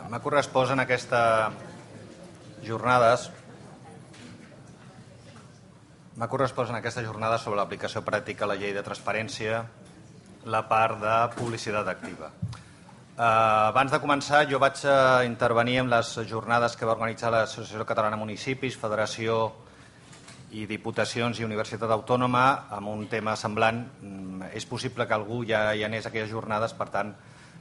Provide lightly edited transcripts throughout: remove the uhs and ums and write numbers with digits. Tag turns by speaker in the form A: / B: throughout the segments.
A: M'ha correspost en aquestes jornades sobre l'aplicació pràctica a la llei de transparència la part de publicitat activa. Abans de començar, jo vaig intervenir en les jornades que va organitzar l'Associació Catalana de Municipis, Federació i Diputacions i Universitat Autònoma amb un tema semblant. És possible que algú ja hi anés a aquelles jornades, per tant,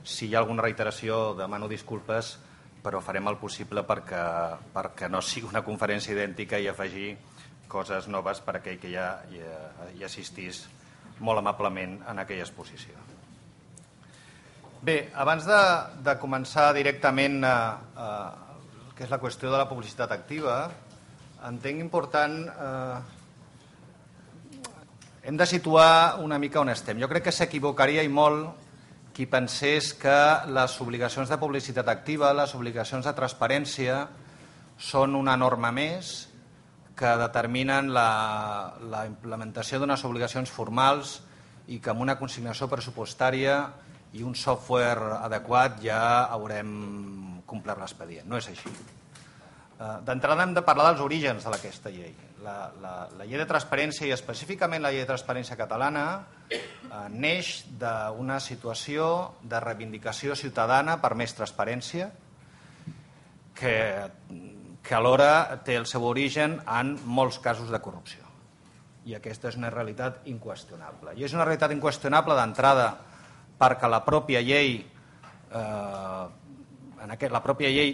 A: si hi ha alguna reiteració demano disculpes, però farem el possible perquè no sigui una conferència idèntica i afegir coses noves per a aquell que ja hi assistís molt amablement en aquella exposició. Bé, abans de començar directament que és la qüestió de la publicitat activa, entenc important, hem de situar una mica on estem. Jo crec que s'equivocaria i molt qui pensés que les obligacions de publicitat activa, les obligacions de transparència, són una norma més que determinen la implementació d'unes obligacions formals i que amb una consignació pressupostària i un software adequat ja haurem complert l'expedient. No és així. D'entrada hem de parlar dels orígens d'aquesta llei. La llei de transparència i específicament la llei de transparència catalana neix d'una situació de reivindicació ciutadana per més transparència que alhora té el seu origen en molts casos de corrupció. I aquesta és una realitat inqüestionable. I és una realitat inqüestionable d'entrada perquè la pròpia llei,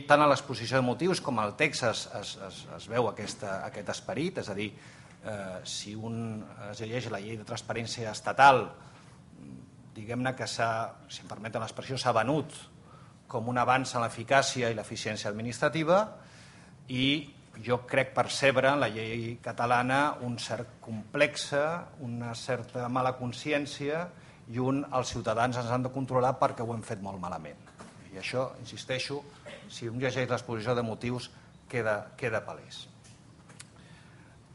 A: tant a l'exposició de motius com al text es veu aquest esperit, és a dir, si un es llegeix la llei de transparència estatal, diguem-ne que si em permeten l'expressió, s'ha venut com un avanç en l'eficàcia i l'eficiència administrativa, i jo crec percebre en la llei catalana un cert complex, una certa mala consciència i els ciutadans ens han de controlar perquè ho hem fet molt malament. I això, insisteixo, si un llegeix l'exposició de motius queda palès.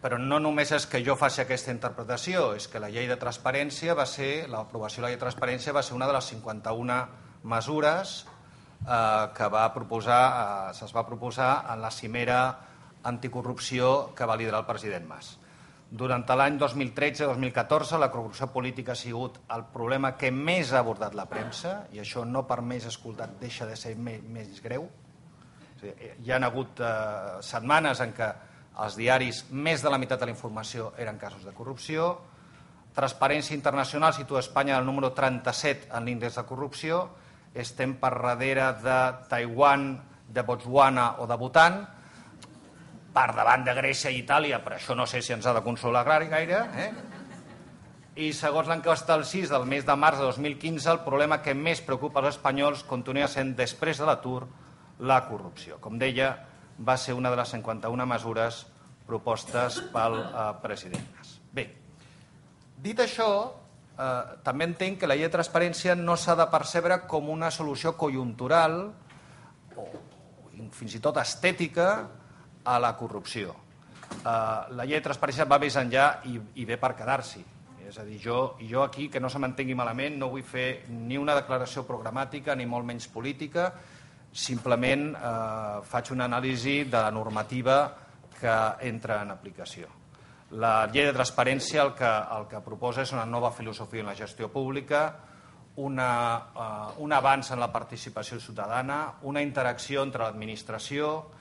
A: Però no només és que jo faci aquesta interpretació, és que la llei de transparència l'aprovació de la llei de transparència va ser una de les 51 mesures que es va proposar en la cimera anticorrupció que va liderar el president Mas. Durant l'any 2013-2014 la corrupció política ha sigut el problema que més ha abordat la premsa, i això no per més escoltat deixa de ser més greu. Hi ha hagut setmanes en què als diaris més de la meitat de la informació eren casos de corrupció. Transparència Internacional situa Espanya al número 37 en l'índex de corrupció. Estem per darrere de Taiwan, de Botswana o de Bhutan, per davant de Grècia i Itàlia, però això no sé si ens ha de consolar gaire. I segons l'enquesta del CIS del mes de març de 2015, el problema que més preocupa als espanyols continua sent, després de l'atur, la corrupció. Com deia, va ser una de les 51 mesures propostes pel president Mas. Bé, dit això, també entenc que la llei de transparència no s'ha de percebre com una solució conjuntural o fins i tot estètica a la corrupció. La llei de transparència va més enllà i ve per quedar-s'hi. És a dir, jo aquí, que no se m'entengui malament, no vull fer ni una declaració programàtica ni molt menys política, simplement faig una anàlisi de la normativa que entra en aplicació. La llei de transparència el que proposa és una nova filosofia en la gestió pública, un avanç en la participació ciutadana, una interacció entre l'administració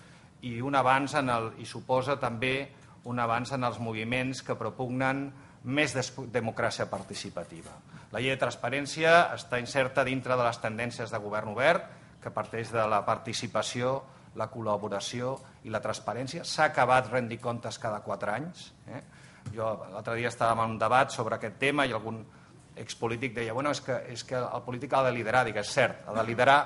A: i un avanç i suposa també un avanç en els moviments que propugnen més democràcia participativa. La llei de transparència està inserta dintre de les tendències de govern obert, que parteix de la participació, la col·laboració i la transparència. S'ha acabat rendir comptes cada 4 anys. Jo l'altre dia estàvem en un debat sobre aquest tema i algun expolític deia és que el polític ha de liderar. Dic, és cert, ha de liderar,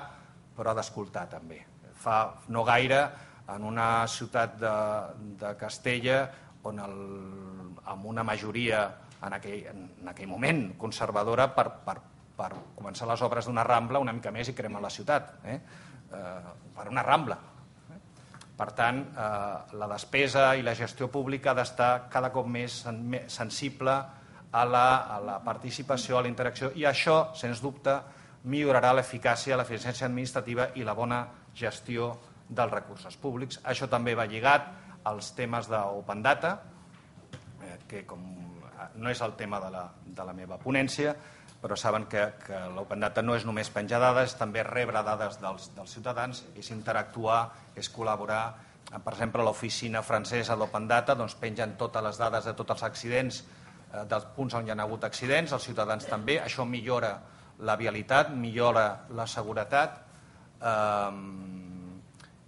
A: però ha d'escoltar també. Fa no gaire, en una ciutat de Castella, on amb una majoria en aquell moment conservadora per començar les obres d'una rambla una mica més i cremar la ciutat, per una rambla. Per tant, la despesa i la gestió pública ha d'estar cada cop més sensible a la participació, a la interacció, i això, sens dubte, millorarà l'eficàcia, l'eficiència administrativa i la bona gestió dels recursos públics. Això també va lligat als temes d'Open Data, que com no és el tema de la meva ponència, però saben que l'Open Data no és només penjar dades, és també rebre dades dels ciutadans, és interactuar, és col·laborar. Per exemple, l'oficina francesa d'Open Data pengen totes les dades de tots els accidents, dels punts on hi ha hagut accidents, els ciutadans també. Això millora la vialitat, millora la seguretat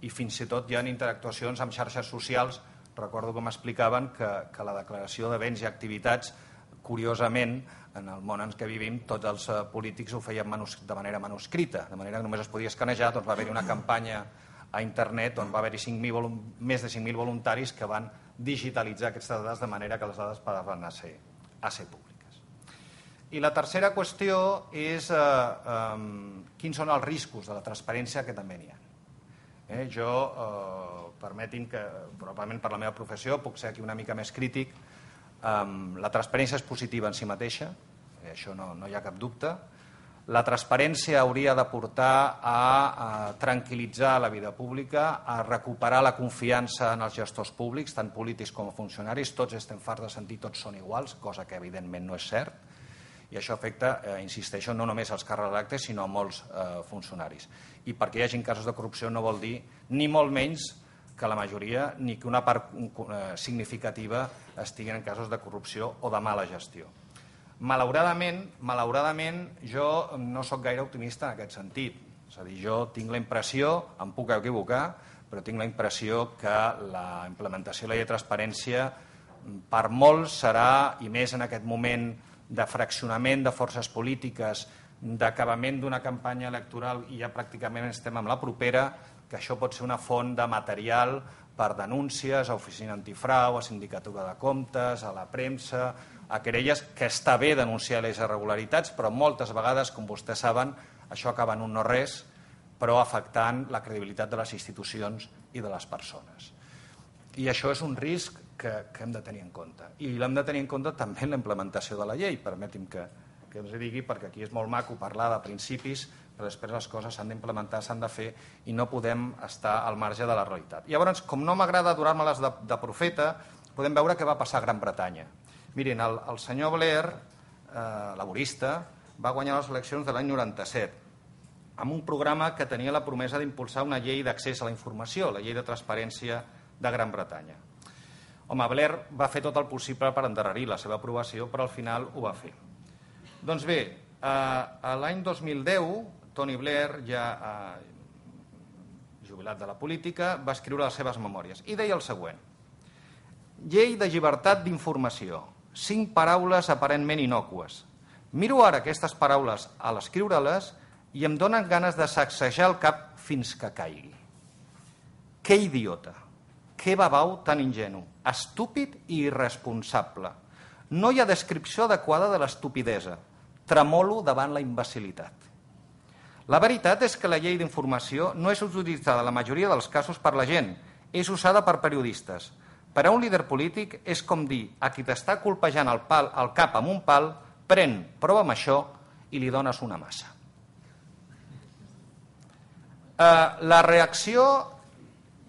A: i fins i tot hi ha interactuacions amb xarxes socials. Recordo que m'explicaven que la declaració de béns i activitats, curiosament, en el món en què vivim, tots els polítics ho feien de manera manuscrita, de manera que només es podia escanejar. Va haver-hi una campanya a internet on va haver-hi més de 5.000 voluntaris que van digitalitzar aquestes dades de manera que les dades passaven a ser públiques. I la tercera qüestió és quins són els riscos de la transparència, que també n'hi ha. Jo, permetin que, probablement per la meva professió, puc ser aquí una mica més crític. La transparència és positiva en si mateixa, això no hi ha cap dubte. La transparència hauria de portar a tranquil·litzar la vida pública, a recuperar la confiança en els gestors públics, tant polítics com funcionaris. Tots estem farts de sentir tots són iguals, cosa que evidentment no és cert, i això afecta, insisteixo, no només als càrrecs electes, sinó a molts funcionaris. I perquè hi hagi casos de corrupció no vol dir ni molt menys que la majoria ni que una part significativa estiguin en casos de corrupció o de mala gestió. Malauradament, jo no sóc gaire optimista en aquest sentit. És a dir, jo tinc la impressió, em puc equivocar, però tinc la impressió que la implementació de la llei de transparència per molts serà, i més en aquest moment de fraccionament de forces polítiques, d'acabament d'una campanya electoral i ja pràcticament estem amb la propera, que això pot ser una font de material per denúncies a Oficina Antifrau, a Sindicatura de Comptes, a la premsa, a querelles, que està bé denunciar les irregularitats, però moltes vegades, com vostès saben, això acaba en un no res, però afectant la credibilitat de les institucions i de les persones. I això és un risc que hem de tenir en compte. I l'hem de tenir en compte també en la implementació de la llei. Permeti'm que us digui, perquè aquí és molt maco parlar de principis, però després les coses s'han d'implementar, s'han de fer, i no podem estar al marge de la realitat. Llavors, com no m'agrada donar-me-les de profeta, podem veure què va passar a Gran Bretanya. Mirin, el senyor Blair, laborista, va guanyar les eleccions de l'any 97 amb un programa que tenia la promesa d'impulsar una llei d'accés a la informació, la llei de transparència de Gran Bretanya. Home, Blair va fer tot el possible per endarrerir la seva aprovació, però al final ho va fer. Doncs bé, l'any 2010, Tony Blair, ja jubilat de la política, va escriure les seves memòries i deia el següent: llei de llibertat d'informació, 5 paraules aparentment innòcues. Miro ara aquestes paraules a l'escriure-les i em donen ganes de sacsejar el cap fins que caigui. Que idiota, que babau tan ingenu, estúpid i irresponsable. No hi ha descripció adequada de l'estupidesa. Tremolo davant la imbecilitat. La veritat és que la llei d'informació no és utilitzada en la majoria dels casos per la gent, és usada per periodistes. Per a un líder polític és com dir a qui t'està colpejant el cap amb un pal: pren, prova amb això, i li dones una massa. La reacció,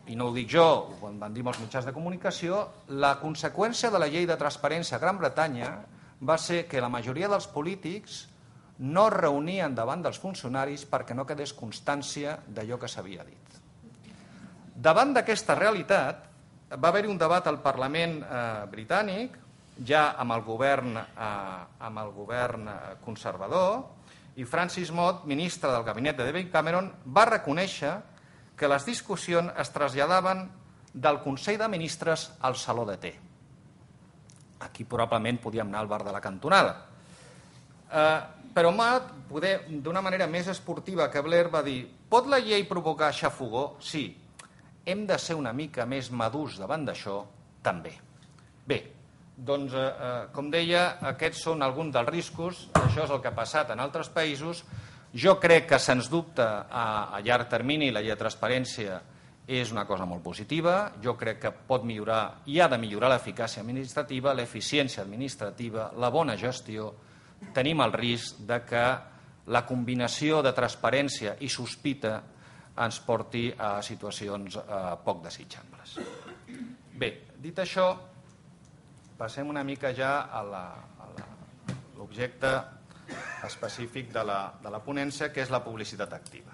A: i no ho dic jo, ho van dir molts mitjans de comunicació, la conseqüència de la llei de transparència a Gran Bretanya va ser que la majoria dels polítics no es reunien davant dels funcionaris perquè no quedés constància d'allò que s'havia dit. Davant d'aquesta realitat, va haver-hi un debat al Parlament britànic, ja amb el govern conservador, i Francis Mott, ministre del gabinet de David Cameron, va reconèixer que les discussions es traslladaven del Consell de Ministres al Saló de Té. Aquí probablement podíem anar al bar de la cantonada. Però Mott, d'una manera més esportiva que Blair, va dir: pot la llei provocar xafogó? Sí. Hem de ser una mica més madurs davant d'això, també. Bé, doncs, com deia, aquests són alguns dels riscos. Això és el que ha passat en altres països. Jo crec que, sens dubte, a llarg termini la llei de transparència és una cosa molt positiva. Jo crec que pot millorar i ha de millorar l'eficàcia administrativa, l'eficiència administrativa, la bona gestió. Tenim el risc de que la combinació de transparència i sospita ens porti a situacions poc desitjables. Bé, dit això, passem una mica ja a l'objecte específic de la ponència, que és la publicitat activa.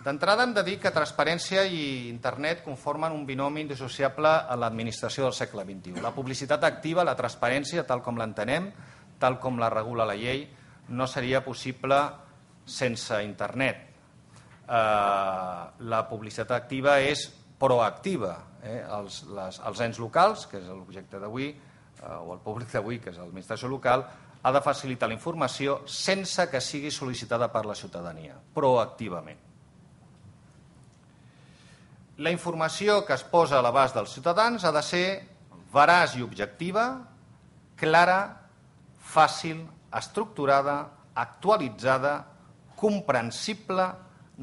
A: D'entrada hem de dir que transparència i internet conformen un binomi indissociable a l'administració del segle XXI. La publicitat activa, la transparència, tal com l'entenem, tal com la regula la llei, no seria possible sense internet. La publicitat activa és proactiva. Els ens locals, que és l'objecte d'avui, o el públic d'avui, que és l'administració local, ha de facilitar la informació sense que sigui sol·licitada per la ciutadania, proactivament. La informació que es posa a l'abast dels ciutadans ha de ser veraç i objectiva, clara, fàcil, estructurada, actualitzada, comprensible,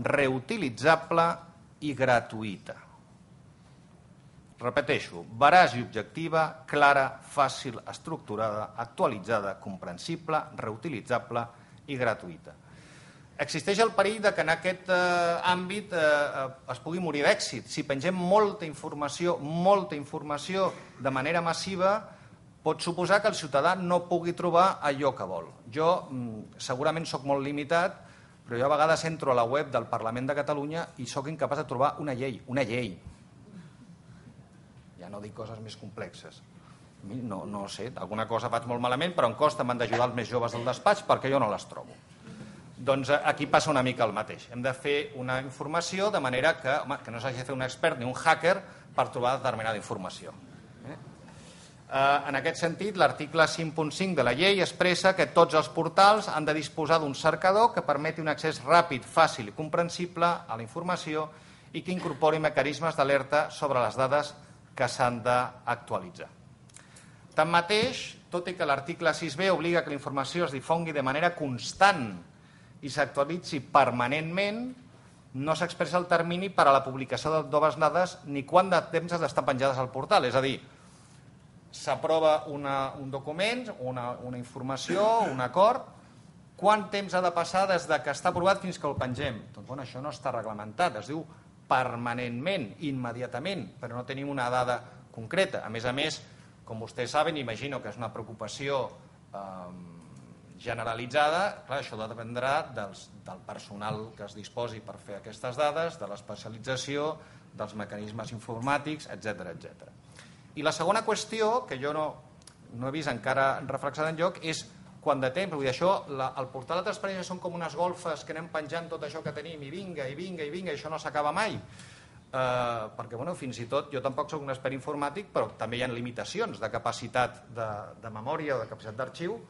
A: reutilitzable i gratuïta. Repeteixo, veraç i objectiva, clara, fàcil, estructurada, actualitzada, comprensible, reutilitzable i gratuïta. Existeix el perill que en aquest àmbit es pugui morir d'èxit. Si pengem molta informació de manera massiva, pot suposar que el ciutadà no pugui trobar allò que vol. Jo segurament sóc molt limitat, però jo a vegades entro a la web del Parlament de Catalunya i sóc incapaç de trobar una llei. Ja no dic coses més complexes. No sé, alguna cosa faig molt malament, però em costa, m'han d'ajudar els més joves del despatx perquè jo no les trobo. Doncs aquí passa una mica el mateix. Hem de fer una informació de manera que no s'hagi de fer un expert ni un hacker per trobar determinada informació. En aquest sentit, l'article 5.5 de la llei expressa que tots els portals han de disposar d'un cercador que permeti un accés ràpid, fàcil i comprensible a la informació i que incorpori mecanismes d'alerta sobre les dades que s'han d'actualitzar. Tanmateix, tot i que l'article 6b obliga que la informació es difongui de manera constant i s'actualitzi permanentment, no s'expressa el termini per a la publicació de noves dades ni quant de temps has d'estar penjades al portal. És a dir, s'aprova un document, una informació, un acord, quant temps ha de passar des que està aprovat fins que el pengem? Doncs això no està reglamentat, es diu permanentment, immediatament, però no tenim una dada concreta. A més, com vostès saben, imagino que és una preocupació generalitzada, clar, això dependrà del personal que es disposi per fer aquestes dades, de l'especialització, dels mecanismes informàtics, etc. I la segona qüestió, que jo no he vist encara reflexada enlloc, és quant de temps. Vull dir, això, el portal de transparència són com unes golfes que anem penjant tot això que tenim i vinga, i això no s'acaba mai. Perquè, fins i tot, jo tampoc soc un expert informàtic, però també hi ha limitacions de capacitat de memòria o de capacitat d'arxiu.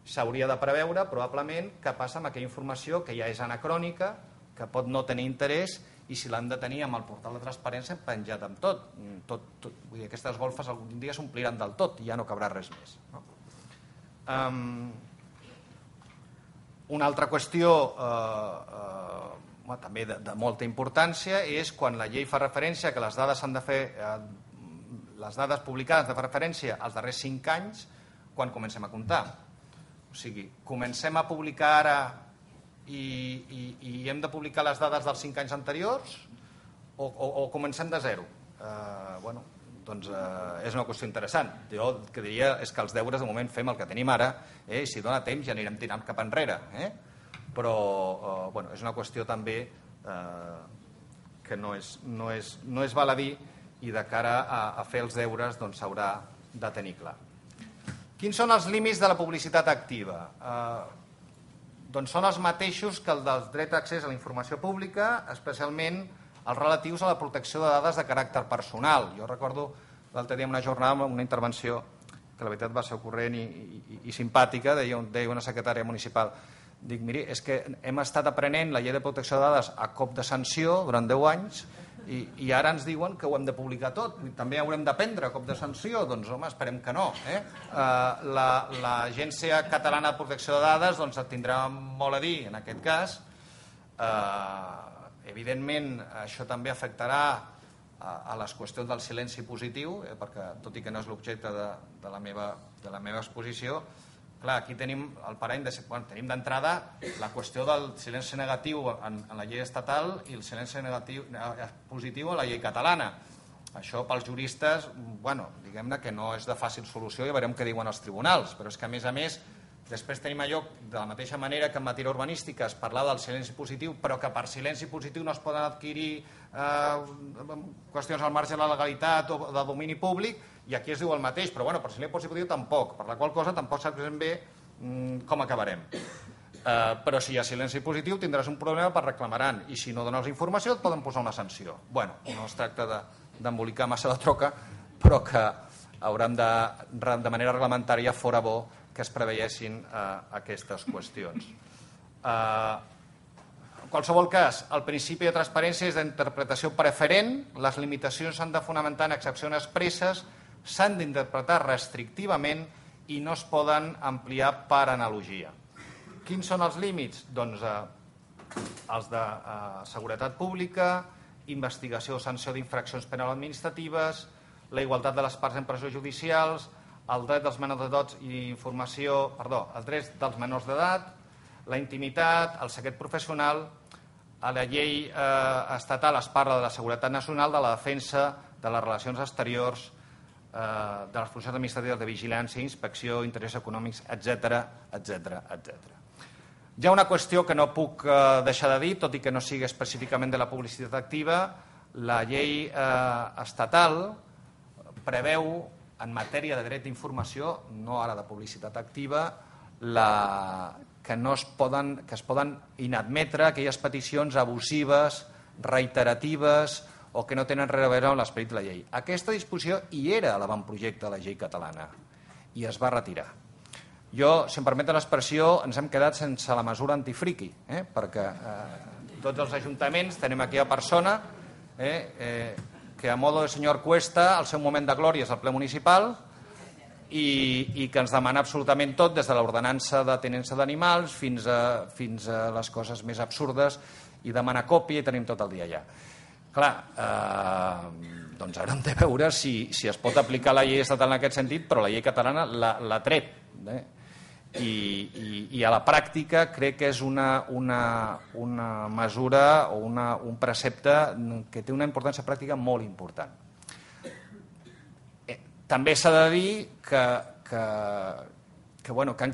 A: S'hauria de preveure, probablement, què passa amb aquella informació que ja és anacrònica, que pot no tenir interès, i si l'han de tenir amb el portal de transparència penjat amb tot. Vull dir, aquestes golfes algun dia s'ompliran del tot i ja no cabrà res més. Una altra qüestió també de molta importància és quan la llei fa referència que les dades publicades de referència als darrers 5 anys, quan comencem a comptar. O sigui, comencem a publicar ara i hem de publicar les dades dels 5 anys anteriors o comencem de zero? Doncs és una qüestió interessant. Jo el que diria és que els deures de moment fem el que tenim ara, i si dona temps ja anirem tirant cap enrere. Però és una qüestió també que no és baladí i de cara a fer els deures s'haurà de tenir clar. Quins són els límits de la publicitat activa? Doncs són els mateixos que el del dret d'accés a la informació pública, especialment els relatius a la protecció de dades de caràcter personal. Jo recordo l'altre dia en una jornada una intervenció que la veritat va ser ocorrent i simpàtica, deia una secretària municipal. Dic, miri, és que hem estat aprenent la llei de protecció de dades a cop de sanció durant 10 anys i ara ens diuen que ho hem de publicar tot. També haurem d'aprendre a cop de sanció? Doncs, home, esperem que no. L'Agència Catalana de Protecció de Dades tindrà molt a dir en aquest cas. Evidentment, això també afectarà a les qüestions del silenci positiu, perquè tot i que no és l'objecte de la meva exposició, clar, aquí tenim el parany tenim d'entrada la qüestió del silenci negatiu en la llei estatal i el silenci positiu en la llei catalana. Això pels juristes, diguem-ne que no és de fàcil solució, i veurem què diuen els tribunals, però és que a més després tenim allò de la mateixa manera que en matèria urbanística es parlava del silenci positiu, però que per silenci positiu no es poden adquirir qüestions al marge de la legalitat o de domini públic, i aquí es diu el mateix, però per silenci positiu tampoc, per la qual cosa tampoc sabem bé com acabarem. Però si hi ha silenci positiu tindràs un problema, per reclamaran, i si no dones informació et poden posar una sanció. No es tracta d'embolicar massa la troca, però que haurem de manera reglamentària fora bo que es preveiessin aquestes qüestions. En qualsevol cas, el principi de transparència és d'interpretació preferent, les limitacions s'han de fonamentar en excepcions expresses, s'han d'interpretar restrictivament i no es poden ampliar per analogia. Quins són els límits? Doncs els de seguretat pública, investigació o sanció d'infraccions penals administratives, la igualtat de les parts en presó judicials, el dret dels menors d'edat i informació, els drets dels menors d'edat, la intimitat, el secret professional. A la llei estatal es parla de la seguretat nacional, de la defensa, de les relacions exteriors, de les funcions administratives de vigilància, inspecció, interessos econòmics, etc. Hi ha una qüestió que no puc deixar de dir, tot i que no sigui específicament de la publicitat activa. La llei estatal preveu, en matèria de dret d'informació, no ara de publicitat activa, que es poden inadmetre aquelles peticions abusives, reiteratives o que no tenen res a veure amb l'esperit de la llei. Aquesta disposició hi era a l'avantprojecte de la llei catalana i es va retirar. Si em permeten l'expressió, ens hem quedat sense la mesura antifriqui, perquè tots els ajuntaments tenim aquella persona que a modo de senyor Cuesta, el seu moment de glòria és el ple municipal i que ens demana absolutament tot, des de l'ordenança de teninça d'animals fins a les coses més absurdes, i demana còpia i tenim tot el dia allà. Clar, doncs ara hem de veure si es pot aplicar la llei estatal en aquest sentit, però la llei catalana l'ha tret. I a la pràctica crec que és una mesura o un precepte que té una importància pràctica molt important. També s'ha de dir que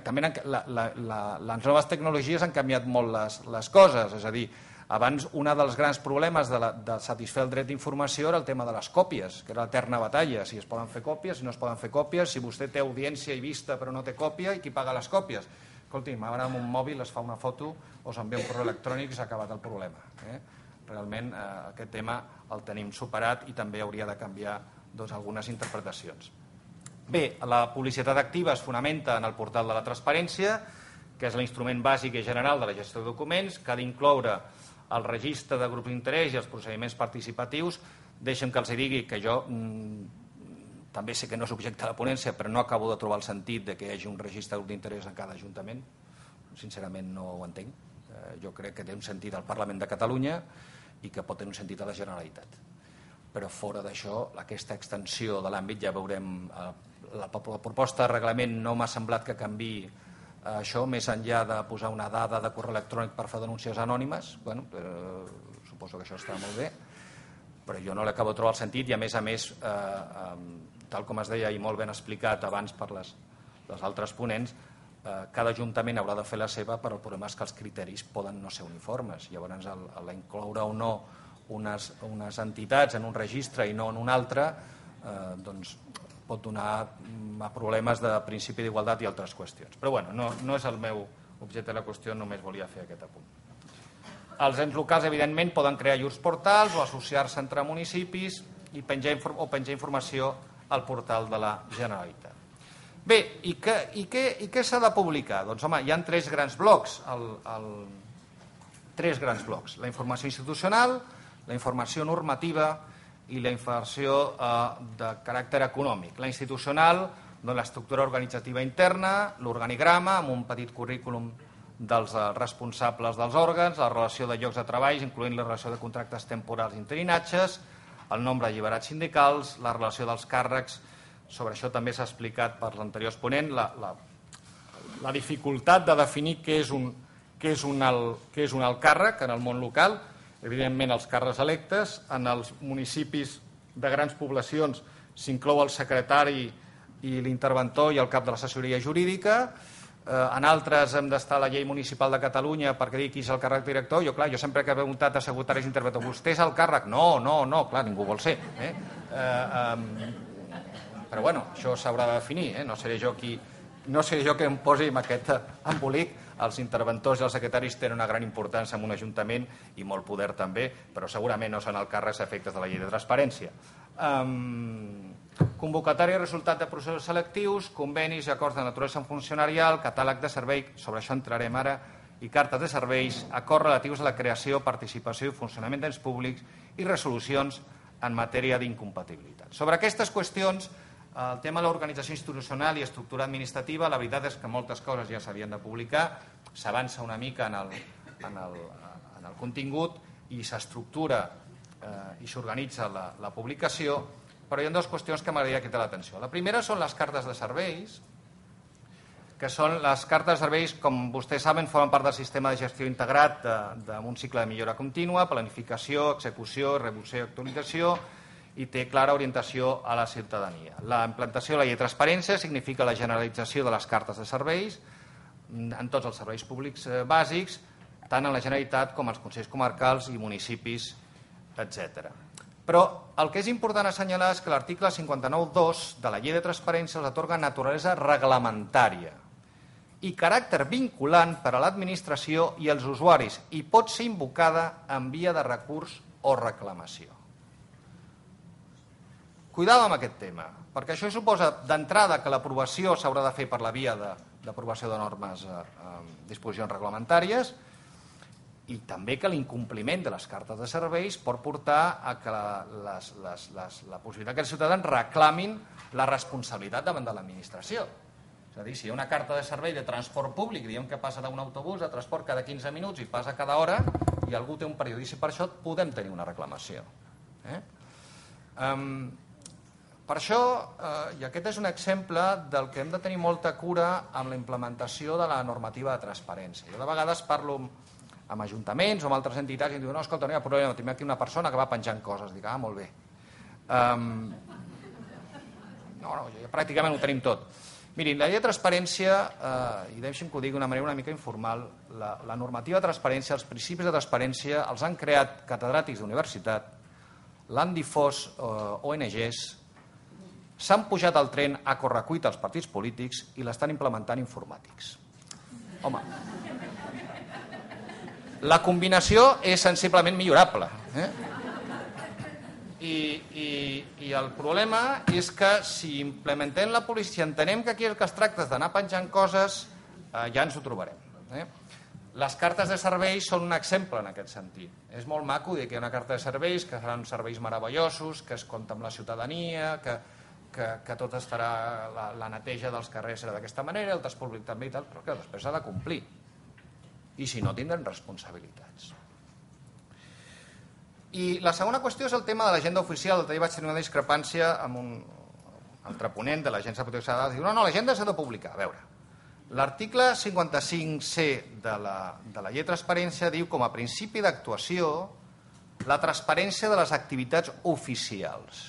A: també les noves tecnologies han canviat molt les coses. És a dir, abans un dels grans problemes de satisfer el dret d'informació era el tema de les còpies, que era l'eterna batalla, si es poden fer còpies, si no es poden fer còpies, si vostè té audiència i vista però no té còpia, i qui paga les còpies? Escolti'm, ara amb un mòbil es fa una foto o s'envia un correu electrònic i s'ha acabat el problema. Realment aquest tema el tenim superat i també hauria de canviar algunes interpretacions. Bé, la publicitat activa es fonamenta en el portal de la transparència, que és l'instrument bàsic i general de la gestió de documents, que ha d'incloure el registre de grups d'interès i els procediments participatius. Deixem que els digui que jo també sé que no és objecte de la ponència, però no acabo de trobar el sentit que hi hagi un registre de grup d'interès en cada ajuntament. Sincerament no ho entenc. Jo crec que té un sentit al Parlament de Catalunya i que pot tenir un sentit a la Generalitat. Però fora d'això, aquesta extensió de l'àmbit ja veurem. La proposta de reglament no m'ha semblat que canviï això, més enllà de posar una dada de correu electrònic per fer denúncies anònimes. Suposo que això està molt bé, però jo no l'acabo de trobar el sentit, i a més, tal com es deia i molt ben explicat abans per les altres ponents, cada ajuntament haurà de fer la seva, però el problema és que els criteris poden no ser uniformes. Llavors, incloure o no unes entitats en un registre i no en un altre, doncs pot donar a problemes de principi d'igualtat i altres qüestions. Però no és el meu objecte de la qüestió, només volia fer aquest apunt. Els ens locals, evidentment, poden crear llurs portals o associar-se entre municipis i penjar informació al portal de la Generalitat. Bé, i què s'ha de publicar? Doncs, home, hi ha tres grans blocs. La informació institucional, la informació normativa i la informació de caràcter econòmic. La institucional, l'estructura organitzativa interna, l'organigrama, amb un petit currículum dels responsables dels òrgans, la relació de llocs de treball, incloent la relació de contractes temporals i interinatges, el nombre de lliberats sindicals, la relació dels càrrecs. Sobre això també s'ha explicat per l'anterior exponent, la dificultat de definir què és un alt càrrec en el món local. Evidentment, els càrrecs electes. En els municipis de grans poblacions s'inclou el secretari i l'interventor i el cap de l'assessoria jurídica. En altres hem d'estar a la llei municipal de Catalunya perquè digui qui és el càrrec director. Jo sempre que he preguntat a secretaris interventors, vostè és el càrrec? No, clar, ningú vol ser. Però bueno, això s'haurà de definir. No seré jo que em posi amb aquest embolic. Els interventors i els secretaris tenen una gran importància en un ajuntament i molt poder també, però segurament no són el càrrecs a efectes de la llei de transparència. Convocatòria i resultat de processos selectius, convenis i acords de naturalesa funcionarial, catàleg de servei, sobre això entrarem ara, i cartes de serveis, acords relatius a la creació, participació i funcionament d'ens públics i resolucions en matèria d'incompatibilitat. Sobre aquestes qüestions, el tema de l'organització institucional i estructura administrativa, la veritat és que moltes coses ja s'havien de publicar, s'avança una mica en el contingut i s'estructura i s'organitza la publicació, però hi ha dues qüestions que m'agradaria cridar l'atenció. La primera són les cartes de serveis, que són les cartes de serveis, com vostès saben, formen part del sistema de gestió integrat d'un cicle de millora contínua, planificació, execució, revisió i actualització, i té clara orientació a la ciutadania. La implantació de la llei de transparència significa la generalització de les cartes de serveis en tots els serveis públics bàsics, tant en la Generalitat com als consells comarcals i municipis, etc. Però el que és important assenyalar és que l'article 59.2 de la llei de transparència els atorga naturalesa reglamentària i caràcter vinculant per a l'administració i els usuaris i pot ser invocada en via de recurs o reclamació. Cuidado amb aquest tema, perquè això suposa d'entrada que l'aprovació s'haurà de fer per la via d'aprovació de normes, disposicions reglamentàries, i també que l'incompliment de les cartes de serveis pot portar a que la possibilitat que els ciutadans reclamin la responsabilitat davant de l'administració. És a dir, si hi ha una carta de servei de transport públic, diem que passa d'un autobús de transport cada 15 minuts i passa cada hora, i algú té un perjudici per això, podem tenir una reclamació. Per això, i aquest és un exemple del que hem de tenir molta cura amb la implementació de la normativa de transparència. Jo de vegades parlo amb ajuntaments o amb altres entitats i em diuen, no, escolta, no hi ha problema, tinc aquí una persona que va penjant coses. Dic, molt bé. No, pràcticament ho tenim tot. Mirin, la llei de transparència, i deixi'm que ho digui d'una manera una mica informal, la normativa de transparència, els principis de transparència els han creat catedràtics d'universitat, l'han difós ONGs, s'han pujat al tren a correcuita als partits polítics i l'estan implementant informàtics. Home, la combinació és sensiblement millorable. I el problema és que si implementem la policia, si entenem que aquí el que es tracta és d'anar penjant coses, ja ens ho trobarem. Les cartes de serveis són un exemple en aquest sentit. És molt maco dir que hi ha una carta de serveis, que seran serveis meravellosos, que es compta amb la ciutadania, que tot estarà, la neteja dels carrers serà d'aquesta manera, el transport públic també i tal, però que després s'ha de complir. I si no, tindran responsabilitats. I la segona qüestió és el tema de l'agenda oficial. L'altre dia vaig tenir una discrepància amb un altre ponent de l'Agència de Protecció de Dades. Diu, no, l'agenda s'ha de publicar. A veure, l'article 55C de la llei de transparència diu com a principi d'actuació la transparència de les activitats oficials.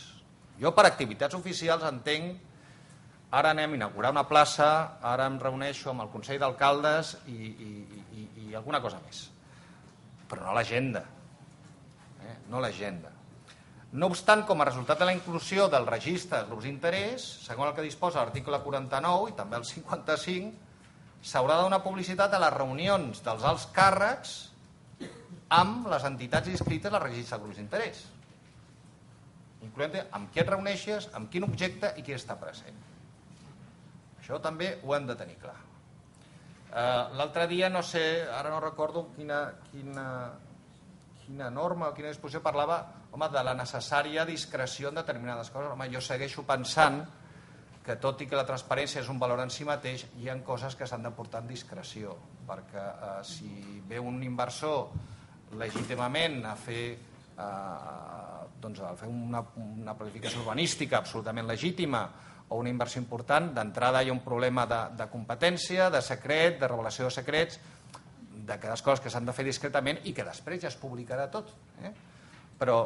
A: Jo per activitats oficials entenc, ara anem a inaugurar una plaça, ara em reuneixo amb el Consell d'Alcaldes i alguna cosa més. Però no l'agenda. No l'agenda. No obstant, com a resultat de la inclusió del registre de grups d'interès, segons el que disposa l'article 49 i també el 55, s'haurà de donar publicitat a les reunions dels alts càrrecs amb les entitats inscrites al registre de grups d'interès, incloent amb qui et reuneixes, amb quin objecte i qui està present. Això també ho hem de tenir clar. L'altre dia, no sé, ara no recordo quina norma o quina disposició parlava de la necessària discreció en determinades coses. Jo segueixo pensant que tot i que la transparència és un valor en si mateix, hi ha coses que s'han de portar en discreció, perquè si ve un inversor legítimament a fer una planificació urbanística absolutament legítima o una inversió important, d'entrada hi ha un problema de competència, de secret, de revelació de secrets, d'aquelles coses que s'han de fer discretament i que després ja es publicarà tot. Però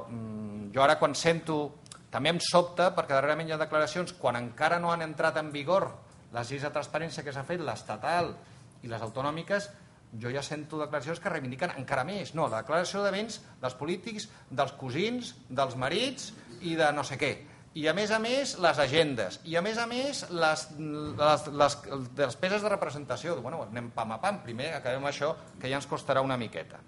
A: jo ara quan sento, també em sobta, perquè darrerament hi ha declaracions, quan encara no han entrat en vigor les lleis de transparència que s'ha fet, l'estatal i les autonòmiques, jo ja sento declaracions que reivindiquen encara més. No, la declaració de béns dels polítics, dels cosins, dels marits i de no sé què. I a més, les agendes. I a més, les despeses de representació. Bueno, anem pam a pam. Primer acabem això, que ja ens costarà una miqueta.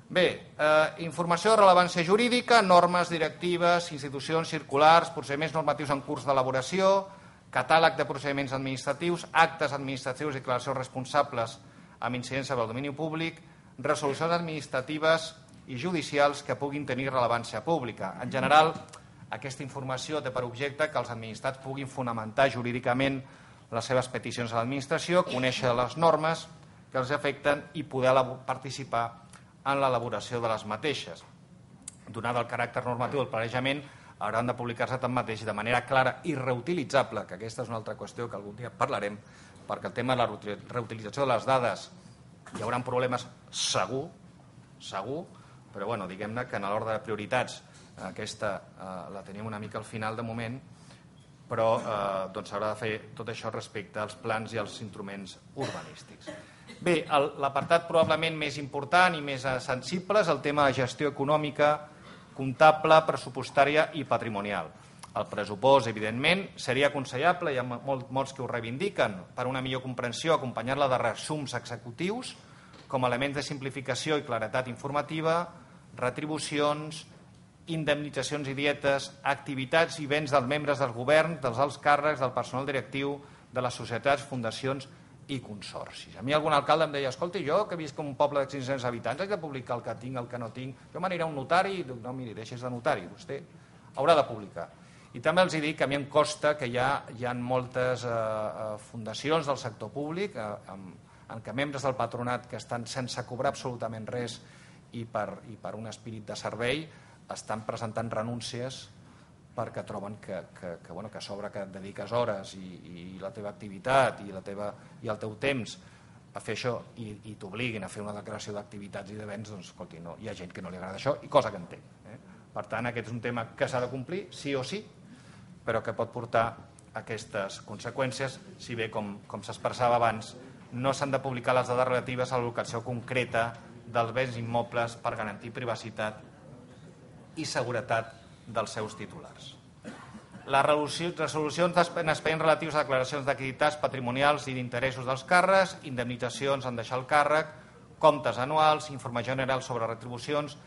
A: Bé, informació de rellevància jurídica, normes, directives, institucions, circulars, procediments normatius en curs d'elaboració, catàleg de procediments administratius, actes administratius i declaracions responsables amb incidència del domini públic, resolucions administratives i judicials que puguin tenir rellevància pública. En general, aquesta informació té per objecte que els administrats puguin fonamentar jurídicament les seves peticions a l'administració, conèixer les normes que els afecten i poder participar en l'elaboració de les mateixes. Donat el caràcter normatiu del planejament, hauran de publicar-se tanmateix de manera clara i reutilitzable, que aquesta és una altra qüestió que algun dia parlarem, perquè el tema de la reutilització de les dades hi haurà problemes segur, però bueno, diguem-ne que en l'ordre de prioritats aquesta la tenim una mica al final de moment, però s'haurà de fer tot això respecte als plans i als instruments urbanístics. Bé, l'apartat probablement més important i més sensible és el tema de gestió econòmica, comptable, pressupostària i patrimonial. El pressupost, evidentment, seria aconsellable, hi ha molts que ho reivindiquen, per una millor comprensió, acompanyar-la de resums executius com a elements de simplificació i claretat informativa, retribucions, indemnitzacions i dietes, activitats i béns dels membres del govern, dels alts càrrecs, del personal directiu, de les societats, fundacions i consorcis. A mi algun alcalde em deia, escolti, jo que visc en un poble de 500 habitants, haig de publicar el que tinc, el que no tinc, jo m'aniré a un notari i dic, no, miri, deixis de notari, vostè haurà de publicar. I també els dic que a mi em costa que hi ha moltes fundacions del sector públic en què membres del patronat que estan sense cobrar absolutament res i per un espírit de servei estan presentant renúncies perquè troben que a sobre que et dediques hores i la teva activitat i el teu temps a fer això i t'obliguin a fer una declaració d'activitats i de béns, doncs, escolti, no, hi ha gent que no li agrada això i cosa que entenc. Per tant, aquest és un tema que s'ha de complir, sí o sí, però que pot portar aquestes conseqüències, si bé, com s'expressava abans, no s'han de publicar les dades relatives a la locació concreta dels béns immobles per garantir privacitat i seguretat dels seus titulars. Les resolucions en expedients relatius a declaracions d'activitats patrimonials i d'interessos dels càrrecs, indemnitzacions en deixar el càrrec, comptes anuals, informació general sobre retribucions,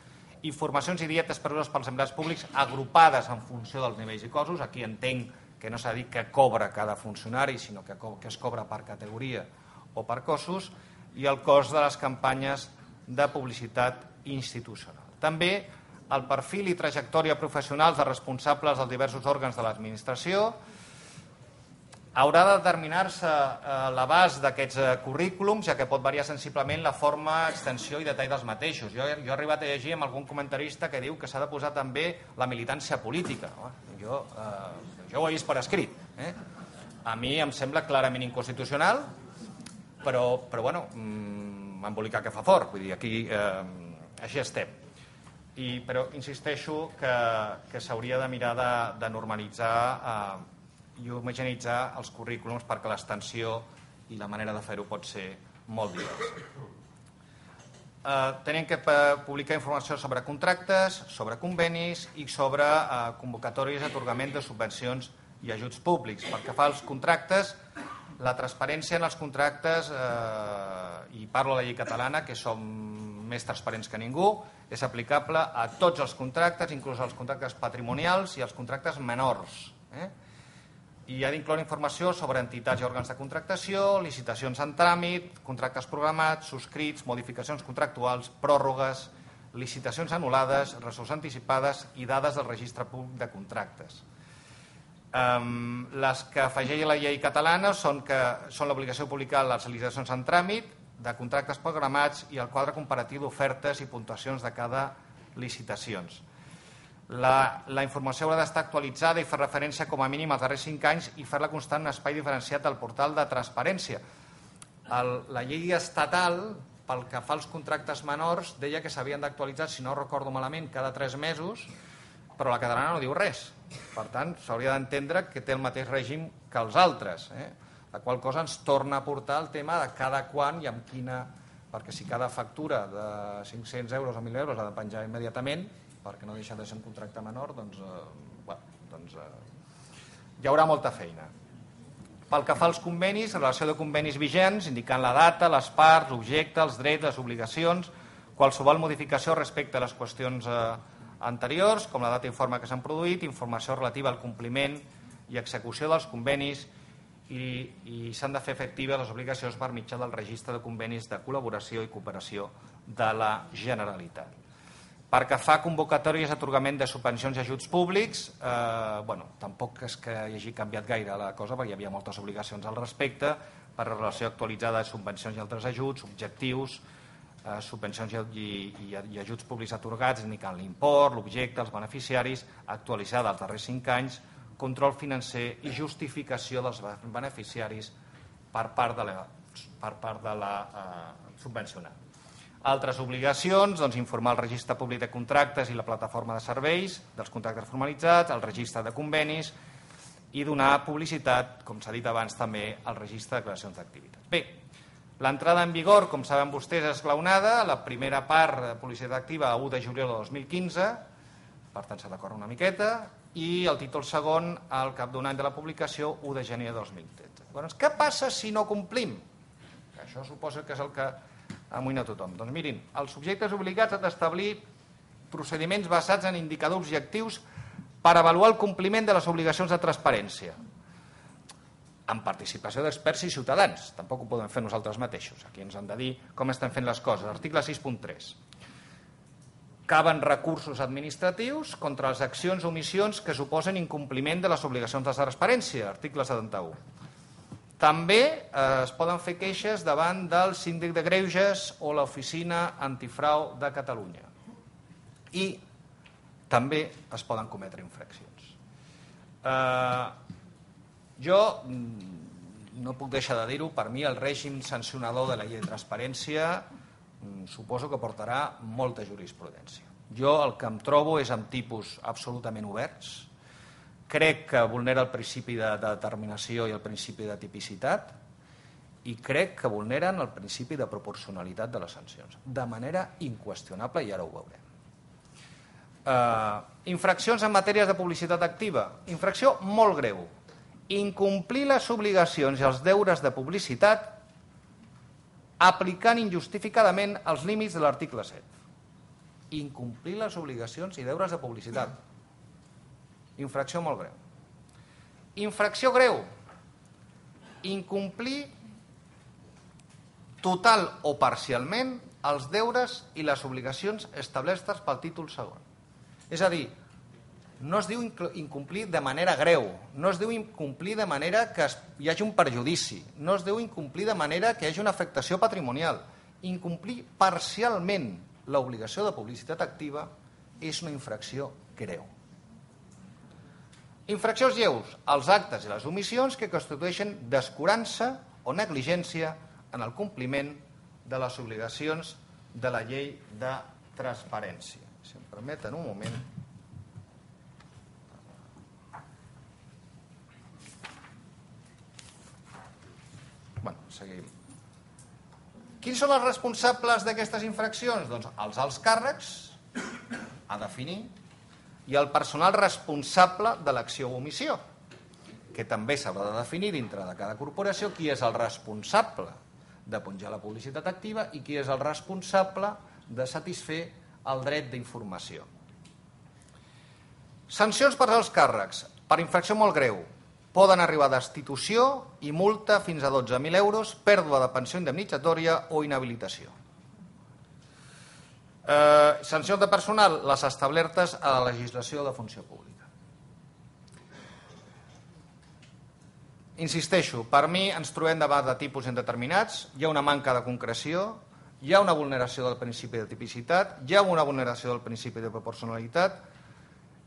A: informacions i dietes preses pels empleats públics agrupades en funció dels nivells i cossos. Aquí entenc que no s'ha dit que cobra cada funcionari, sinó que es cobra per categoria o per cossos, i el cost de les campanyes de publicitat institucional. També el perfil i trajectòria professionals dels responsables dels diversos òrgans de l'administració. Haurà de determinar-se l'abast d'aquests currículums, ja que pot variar sensiblement la forma, extensió i detall dels mateixos. Jo he arribat a llegir amb algun comentarista que diu que s'ha de posar també la militància política. Jo ho he vist per escrit. A mi em sembla clarament inconstitucional, però bueno, m'embolicar que fa fort. Vull dir, aquí així estem. Però insisteixo que s'hauria de mirar de normalitzar i homogeneïtzar els currículums perquè l'extensió i la manera de fer-ho pot ser molt diversa. Tenim que publicar informació sobre contractes, sobre convenis i sobre convocatòries d'atorgament de subvencions i ajuts públics. Pel que fa als contractes, la transparència en els contractes, i parlo de la llei catalana, que som més transparents que ningú, és aplicable a tots els contractes, inclús als contractes patrimonials i als contractes menors. I ha d'incloure informació sobre entitats i òrgans de contractació, licitacions en tràmit, contractes programats, subscrits, modificacions contractuals, pròrrogues, licitacions anul·lades, resolucions anticipades i dades del registre públic de contractes. Les que afegeix la llei catalana són l'obligació de publicar les licitacions en tràmit, de contractes programats i el quadre comparatiu d'ofertes i puntuacions de cada licitacions. La informació haurà d'estar actualitzada i fer referència com a mínim als darrers 5 anys i fer-la constar en un espai diferenciat al portal de transparència. La llei estatal, pel que fa als contractes menors, deia que s'havien d'actualitzar, si no recordo malament, cada 3 mesos, però la catalana no diu res. Per tant, s'hauria d'entendre que té el mateix règim que els altres, la qual cosa ens torna a portar el tema de cada quan i amb quina... perquè si cada factura de 500 euros o 1.000 euros ha de penjar immediatament, perquè no deixa de ser un contracte menor, doncs hi haurà molta feina. Pel que fa als convenis, relació de convenis vigents, indicant la data, les parts, l'objecte, els drets, les obligacions, qualsevol modificació respecte a les qüestions anteriors, com la data i forma que s'han produït, informació relativa al compliment i execució dels convenis i s'han de fer efectives les obligacions per mitjà del registre de convenis de col·laboració i cooperació de la Generalitat. Per que fa convocatòries d'atorgament de subvencions i ajuts públics, tampoc és que hi hagi canviat gaire la cosa, perquè hi havia moltes obligacions al respecte, per relació actualitzada de subvencions i altres ajuts, objectius, subvencions i ajuts públics atorgats, indicant l'import, l'objecte, els beneficiaris, actualitzada els darrers 5 anys, control financer i justificació dels beneficiaris per part de la subvencionada. Altres obligacions, informar el registre públic de contractes i la plataforma de serveis dels contractes formalitzats, el registre de convenis i donar publicitat, com s'ha dit abans també, al registre de declaracions d'activitat. Bé, l'entrada en vigor, com saben vostès, és esglaonada. La primera part de publicitat activa a 1 de juliol de 2015, per tant s'ha de córrer una miqueta, i el títol segon al cap d'un any de la publicació, 1 de gener de 2013. Llavors, què passa si no complim? Això suposa que és el que amoïna tothom. Doncs mirin, els subjectes obligats han d'establir procediments basats en indicadors objectius per avaluar el compliment de les obligacions de transparència, amb participació d'experts i ciutadans. Tampoc ho podem fer nosaltres mateixos. Aquí ens han de dir com estem fent les coses. Article 6.3. Caben recursos administratius contra les accions o omissions que suposen incompliment de les obligacions de transparència. Article 71. També es poden fer queixes davant del síndic de greuges o l'Oficina Antifrau de Catalunya. I també es poden cometre infraccions. Jo no puc deixar de dir-ho, per mi el règim sancionador de la llei de transparència suposo que portarà molta jurisprudència. Jo el que em trobo és amb tipus absolutament oberts. Crec que vulnera el principi de determinació i el principi de tipicitat i crec que vulneren el principi de proporcionalitat de les sancions, de manera inqüestionable, i ara ho veurem. Infraccions en matèries de publicitat activa. Infracció molt greu. Incomplir les obligacions i els deures de publicitat aplicant injustificadament els límits de l'article 7. Incomplir les obligacions i deures de publicitat. Infracció molt greu. Infracció greu. Incomplir total o parcialment els deures i les obligacions establertes pel títol segon. És a dir, no es diu incomplir de manera greu, no es diu incomplir de manera que hi hagi un perjudici, no es diu incomplir de manera que hi hagi una afectació patrimonial. Incomplir parcialment l'obligació de publicitat activa és una infracció greu. Infraccions lleus, els actes i les omissions que constitueixen descurança o negligència en el compliment de les obligacions de la llei de transparència. Si em permeten un moment. Seguim. Quins són els responsables d'aquestes infraccions? Doncs els alts càrrecs, a definir, i el personal responsable de l'acció o omissió, que també s'haurà de definir dintre de cada corporació qui és el responsable de penjar la publicitat activa i qui és el responsable de satisfer el dret d'informació. Sancions per als càrrecs. Per infracció molt greu, poden arribar a destitució i multa fins a 12.000 euros, pèrdua de pensió indemnitzatòria o inhabilitació. Sancions de personal, les establertes a la legislació de funció pública. Insisteixo, per mi ens trobem davant de tipus indeterminats, hi ha una manca de concreció, hi ha una vulneració del principi de tipicitat, hi ha una vulneració del principi de proporcionalitat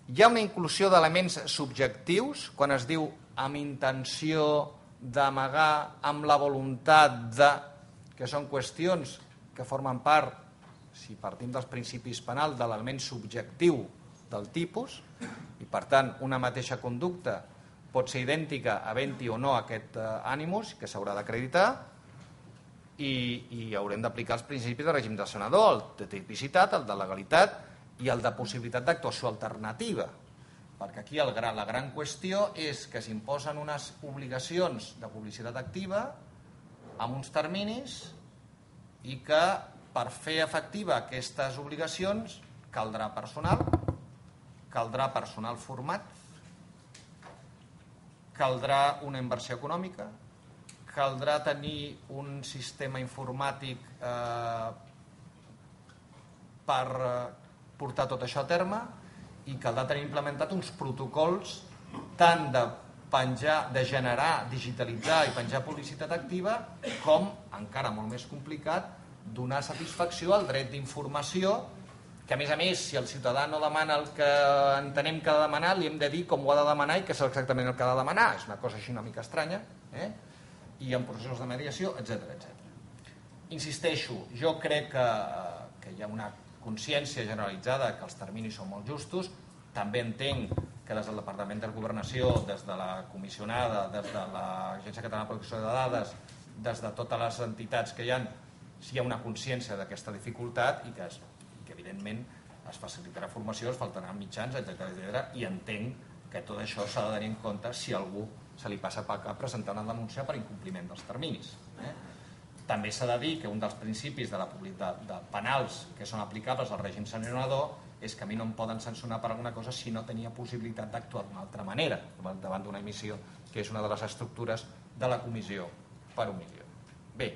A: Hi ha una inclusió d'elements subjectius quan es diu amb intenció d'amagar, amb la voluntat de... que són qüestions que formen part, si partim dels principis penals, de l'element subjectiu del tipus, i per tant una mateixa conducta pot ser idèntica havent-hi o no aquest ànimus que s'haurà d'acreditar, i haurem d'aplicar els principis de règim de sanador, el de tipicitat, el de legalitat i el de possibilitat d'actuació alternativa, perquè aquí la gran qüestió és que s'imposen unes obligacions de publicitat activa amb uns terminis i que per fer efectiva aquestes obligacions caldrà personal format, caldrà una inversió econòmica, caldrà tenir un sistema informàtic per portar tot això a terme i caldrà tenir implementat uns protocols tant de penjar, de generar, digitalitzar i penjar publicitat activa, com, encara molt més complicat, donar satisfacció al dret d'informació, que a més, si el ciutadà no demana el que entenem que ha de demanar, li hem de dir com ho ha de demanar i què és exactament el que ha de demanar. És una cosa així una mica estranya, i en processos de mediació, etc. Insisteixo, jo crec que hi ha una consciència generalitzada que els terminis són molt justos. També entenc que des del Departament de Governació, des de la comissionada, des de l'Agència Catalana de Protecció de Dades, des de totes les entitats que hi ha una consciència d'aquesta dificultat i que evidentment es facilitarà formació, es faltaran mitjans, etc. I entenc que tot això s'ha de tenir en compte si a algú se li passa per cap presentar una denúncia per incompliment dels terminis. També s'ha de dir que un dels principis de penals que són aplicables al règim sancionador és que a mi no em poden sancionar per alguna cosa si no tenia possibilitat d'actuar d'una altra manera davant d'una emissió, que és una de les estructures de la comissió per omissió. Bé,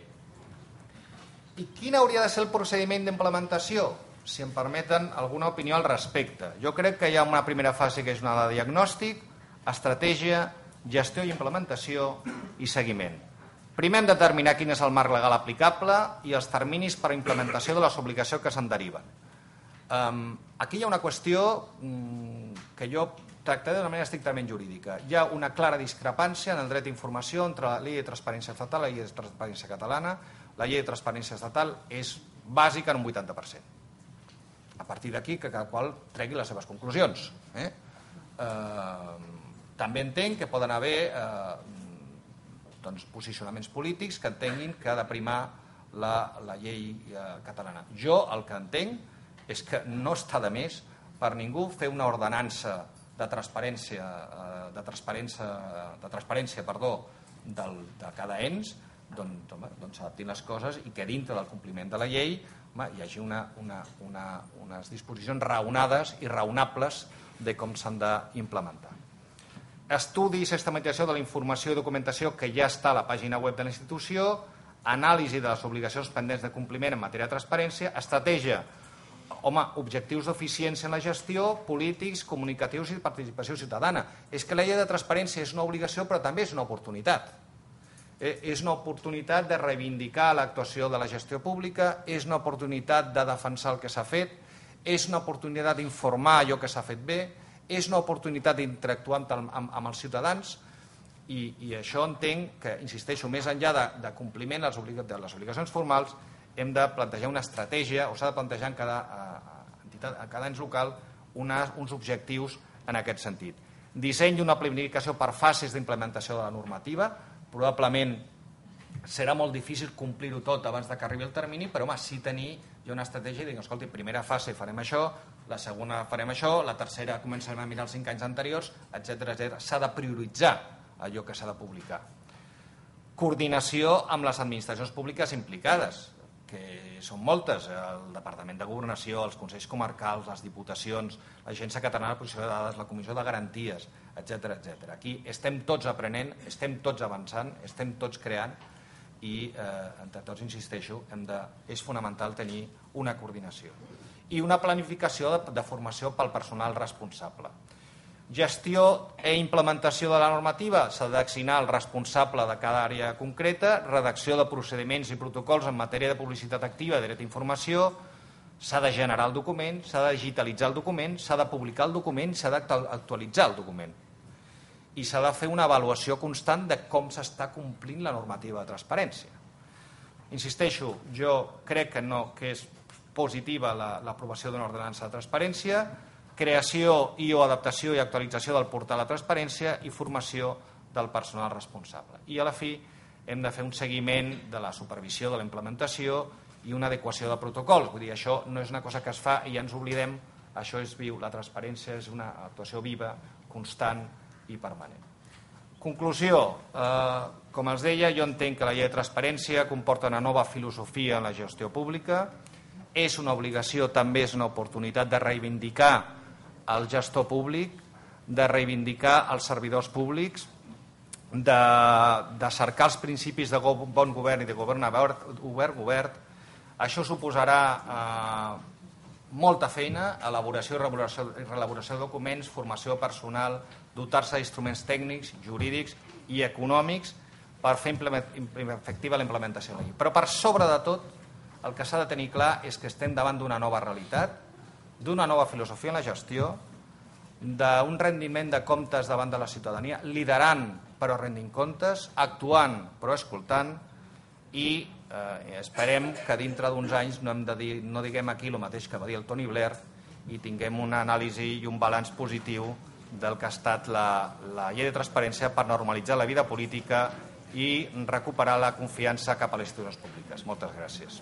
A: i quin hauria de ser el procediment d'implementació? Si em permeten alguna opinió al respecte. Jo crec que hi ha una primera fase que és una de diagnòstic, estratègia, gestió i implementació i seguiment. Primer hem de determinar quin és el marc legal aplicable i els terminis per a implementació de les obligacions que se'n deriven. Aquí hi ha una qüestió que jo tractaré d'una manera estrictament jurídica. Hi ha una clara discrepància en el dret d'informació entre la llei de transparència estatal i la llei de transparència catalana. La llei de transparència estatal és bàsica en un 80%. A partir d'aquí que cada qual tregui les seves conclusions. També entenc que poden haver posicionaments polítics que entenguin que ha de primar la llei catalana. Jo el que entenc és que no està de més per ningú fer una ordenança de transparència de cada ens, s'adaptin les coses i que dintre del compliment de la llei hi hagi unes disposicions raonades i raonables de com s'han d'implementar. Estudi i sistematització de la informació i documentació que ja està a la pàgina web de la institució, anàlisi de les obligacions pendents de compliment en matèria de transparència, estratègia, objectius d'eficiència en la gestió, polítics, comunicatius i participació ciutadana. És que la llei de transparència és una obligació però també és una oportunitat. És una oportunitat de reivindicar l'actuació de la gestió pública, és una oportunitat de defensar el que s'ha fet, és una oportunitat d'informar allò que s'ha fet bé, és una oportunitat d'interactuar amb els ciutadans i això entenc que, insisteixo, més enllà de compliment de les obligacions formals, hem de plantejar una estratègia o s'ha de plantejar en cada ens local uns objectius en aquest sentit. Disseny d'una planificació per fases d'implementació de la normativa. Probablement serà molt difícil complir-ho tot abans que arribi el termini, però sí tenir una estratègia i dir, escolti, primera fase farem això, la segona farem això, la tercera començarem a mirar els 5 anys anteriors, etc. S'ha de prioritzar allò que s'ha de publicar. Coordinació amb les administracions públiques implicades, que són moltes, el Departament de Governació, els Consells Comarcals, les Diputacions, l'Agència Catalana de Protecció de Dades, la Comissió de Garanties, etc. Aquí estem tots aprenent, estem tots avançant, estem tots creant i entre tots, insisteixo, és fonamental tenir una coordinació i una planificació de formació pel personal responsable. Gestió i implementació de la normativa, s'ha d'assignar el responsable de cada àrea concreta, redacció de procediments i protocols en matèria de publicitat activa i dret d'informació, S'ha de generar el document, s'ha de digitalitzar el document, s'ha de publicar el document, s'ha d'actualitzar el document. I s'ha de fer una avaluació constant de com s'està complint la normativa de transparència. Insisteixo, jo crec que és positiva l'aprovació d'una ordenança de transparència, creació i o adaptació i actualització del portal de transparència i formació del personal responsable. I a la fi hem de fer un seguiment de la supervisió de la implementació i una adequació de protocols. Vull dir, això no és una cosa que es fa i ja ens oblidem, això és viu, la transparència és una actuació viva, constant i permanent. Conclusió, com els deia, jo entenc que la llei de transparència comporta una nova filosofia en la gestió pública, és una obligació, també és una oportunitat de reivindicar el gestor públic, de reivindicar els servidors públics, de cercar els principis de bon govern i de govern obert. Això suposarà molta feina, elaboració i reelaboració de documents, formació personal, dotar-se d'instruments tècnics, jurídics i econòmics per fer efectiva la implementació de la llei. Però per sobre de tot, el que s'ha de tenir clar és que estem davant d'una nova realitat, d'una nova filosofia en la gestió, d'un rendiment de comptes davant de la ciutadania, liderant però rendint comptes, actuant però escoltant, i esperem que dintre d'uns anys no diguem aquí el mateix que va dir el Tony Blair i tinguem una anàlisi i un balanç positiu del que ha estat la llei de transparència per normalitzar la vida política i recuperar la confiança cap a les institucions públiques. Moltes gràcies.